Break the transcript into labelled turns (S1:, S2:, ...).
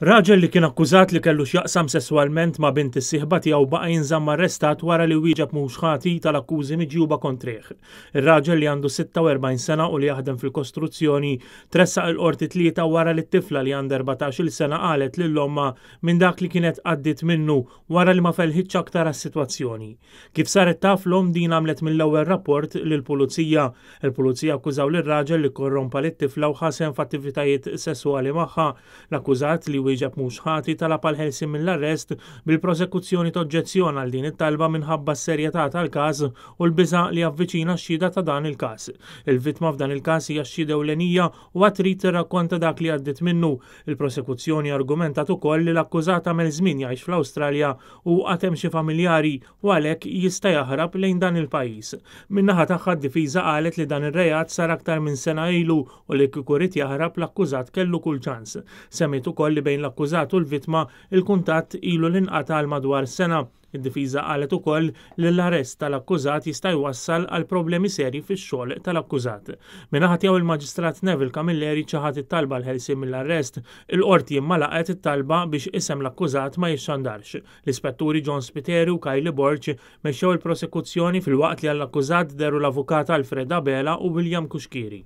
S1: Raġel li kien akkużat li kellu x'jaqsam sesswalment ma' bint is-sieħba tiegħu baqa' jinżamm arrestat wara li wieġeb mhux ħati tal-akkużi miġjuba kontrih. Ir-raġel li għandu 46 sena u li jaħdem fil-kostruzzjoni tressaq il-Qorti t-Tlieta wara li t-tifla li għandha 14-il sena qalet lil ommha minn dak li kienet għaddiet minnu wara li ma felħitx aktar għas-sitwazzjoni. Kif saret taf l-omm din għamlet mill-ewwel rapport lill-Pulizija. Il-Pulizija akkużaw lir-raġel li kkorrompa lit-tifla u ħa sehem f'attivitajiet sesswali magħha. L-akkużat, li wieġeb mhux ħati, talab għall-ħelsien mill-arrest, bil-prosekuzzjoni toġġezzjona għal din it-talba minħabba s-serjetà tal-każ u l-biża' li javviċina x-xhieda ta' dan il-każ. Il-vittma f'dan il-każ hija x-xhieda ewlenija u għad trid tirrakkonta dak li għaddiet minnu. Il-prosekuzzjoni argumentat ukoll li l-akkużat għamel żmien jgħix fl-Awstralja u għad hemm xi familjari u għalhekk jista' jaħrab lejn dan il-pajjiż. Min-naħa tagħha d-difiża qalet li dan ir-reat sar aktar minn sena ilu u li kieku ried jaħrab l-akkużat kellu kull ċans. Semmiet ukoll li bejn l-akkużat u l-vittma il-kuntatt ilu li nqata' għal madwar sena. Id-difiża qalet ukoll li l-arrest tal-akkużat jista' jwassal għal problemi serji fix-xogħol tal-akkużat. Min-naħa tiegħu il-Maġistrat Neville Camilleri ċaħad it-talba għall-ħelsien mill-arrest. Il-Qorti imma laqgħet it-talba biex isem l-akkużat ma jixxandarx. L-Ispetturi John Spiteri u Kylie Borg mexxew il-prosekuzzjoni filwaqt li għall-akkużat dehru l-Avukat Alfred Abela u William Cuschieri.